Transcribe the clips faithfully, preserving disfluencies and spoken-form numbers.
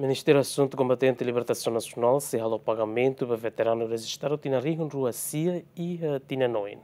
Ministériu Asuntu Kombatente Libertasaun Nasionál sei halo pagamentu ba veteranu rejistadu tinan rihun rua sia iha tinan oin.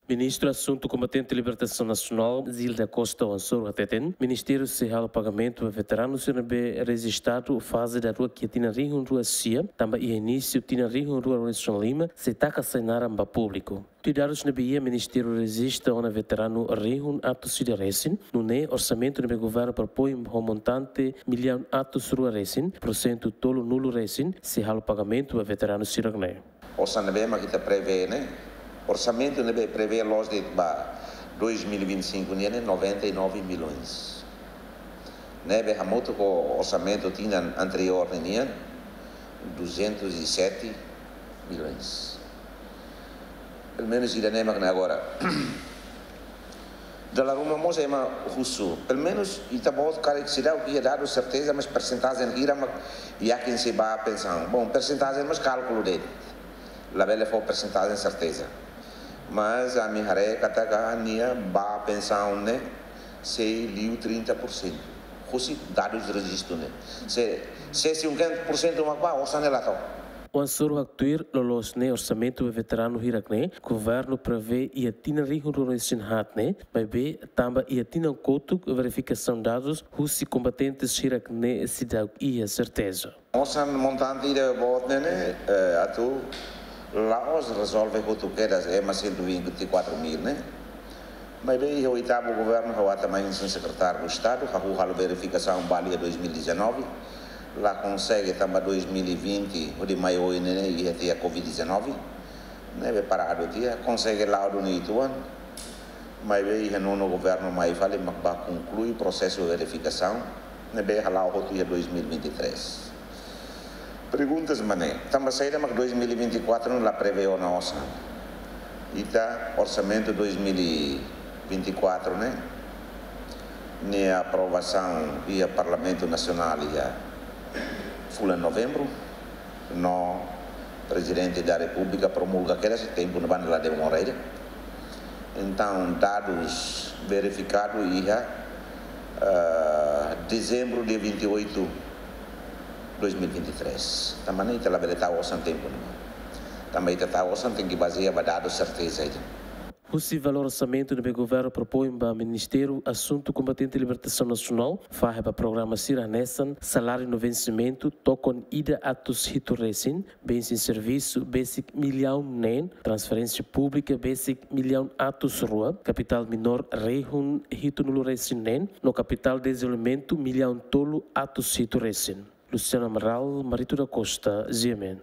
Ministru Asuntu Kombatente Libertasaun Nasionál, Gil da Costa, oan soru hateten, Ministériu sei halo pagamentu ba veteranu sira ne'ebé rejistadu faze daruak iha tinan rihun rua sia, tanba iha inísiu tinan rihun rua ruanulu-resin-lima, sei taka sai naran ba públiku. Tuir dadus ne'ebé iha, Ministériu rejista ona veteranu rihun atus ida resin, nune'e orsamentu ne'ebé governu propoin ho montante millaun atus rua resin, porsentu tolunulu resin, sei halo pagamentu ba veteranu sira-ne'e. Osan ne'ebé mak ita prevee ne'e, orsamentu ne'ebé prevee loos de'it ba dois mil e vinte e cinco nian ne'e noventa e nove milhões. Ne'ebé hamutuk ho orsamentu tinan anteriór nian, duzentos e sete milhões. Pelumenus ida-ne'e mak ne'e agora. Dala ruma mós ema husu. Pelumenus ita-boot karik seidauk iha dadus serteza, mas persentajen hira mak yakin sei bá pensaun. Bom, persentajen mós kálkulu de'it. Labele fó persentajen serteza. Mas ami haree katak nia bá pensaun ne'e sei liu trinta por cento. Husi dadus rejistu ne'e. Se, se cinquenta por cento mak bá, osan ne'e la to'o. Oan soru haktuir, loloos ne'e orsamentu ba veteranu hirak-ne'e, governu prevee iha tinan rihun rua resin haat ne'e, maibé tanba iha tinan kotuk verifikasaun dadus husi kombatentes hirak-ne'e seidauk iha serteza. Osan montante ida boot ne'e ne'e, eh, atu la'ós rezolve hotu kedas ema cento e vinte e quatro mil ne'e. Maibé iha oitavu governu ha'u ata mai hanesan sekretáriu do Estadu, ha'u halo verifikasaun ba iha dois mil e dezanove, la konsege tanba dois mil e vinte, hodi mai oin ne'e ne'e iha tiha covid dezanove, ne'ebé paradu tiha, konsege la'o duni uitoan, maibé iha nonu governu mai fali mak bá konklui prosesu verifikasaun, ne'ebé hala'o hotu iha dois mil e vinte e três. Perguntas mak ne'e, tanba saida mak dois mil e vinte e quatro la prevee ona osan. Ita orsamentu dois mil e vinte e quatro ne'e, nia aprovasaun iha Parlamentu Nasionál iha fulan Novembru, no Prezidente da Repúblika promulga kedas tempu ne'ebá la demora ida. Entaun, dadus verifikadu iha, eh, dezembru, dia vinte e oito, dois mil e vinte e três. Tanba ne'e ita labele tau osan tempu ne'ebá. Tanba ita tau osan tenke bazeia ba dadus serteza ida. Husi valór orsamentu ne'ebé governu propoin ba Ministériu Asuntu Kombatente Libertasaun Nasionál, fahe ba programa sira hanesan saláriu no vensimentu, tokon ida atus hitu resin, bensin servisu besik millaun neen, transferénsia públika besik millaun atus rua, kapitál minór rihun hitunulu resin neen, no kapitál dezenvolvimentu millaun tolu atus hitu resin. Luciano Amaral, Marito da Costa, G M N.